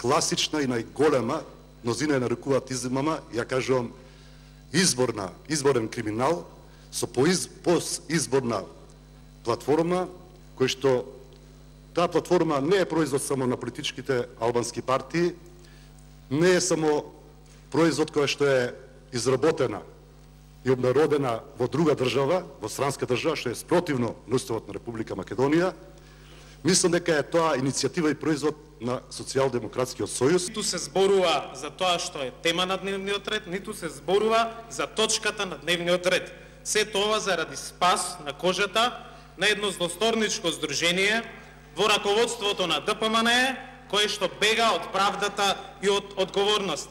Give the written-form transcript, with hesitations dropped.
класична и најголема, мнозина ја нарекуваат измама, ја кажувам изборен криминал со постизборна платформа, кој што таа платформа не е производ само на политичките албански партии, не е само производ која што е изработена и обнародена во друга држава, во странска држава, што е спротивно на Уставот на Република Македонија. Мислам дека е тоа иницијатива и производ на Социјалдемократскиот сојуз. Ниту се зборува за тоа што е тема на дневниот ред, ниту се зборува за точката на дневниот ред. Се тоа заради спас на кожата на едно злосторничко здружение во раководството на ДПМН, кое што бега од правдата и од одговорност.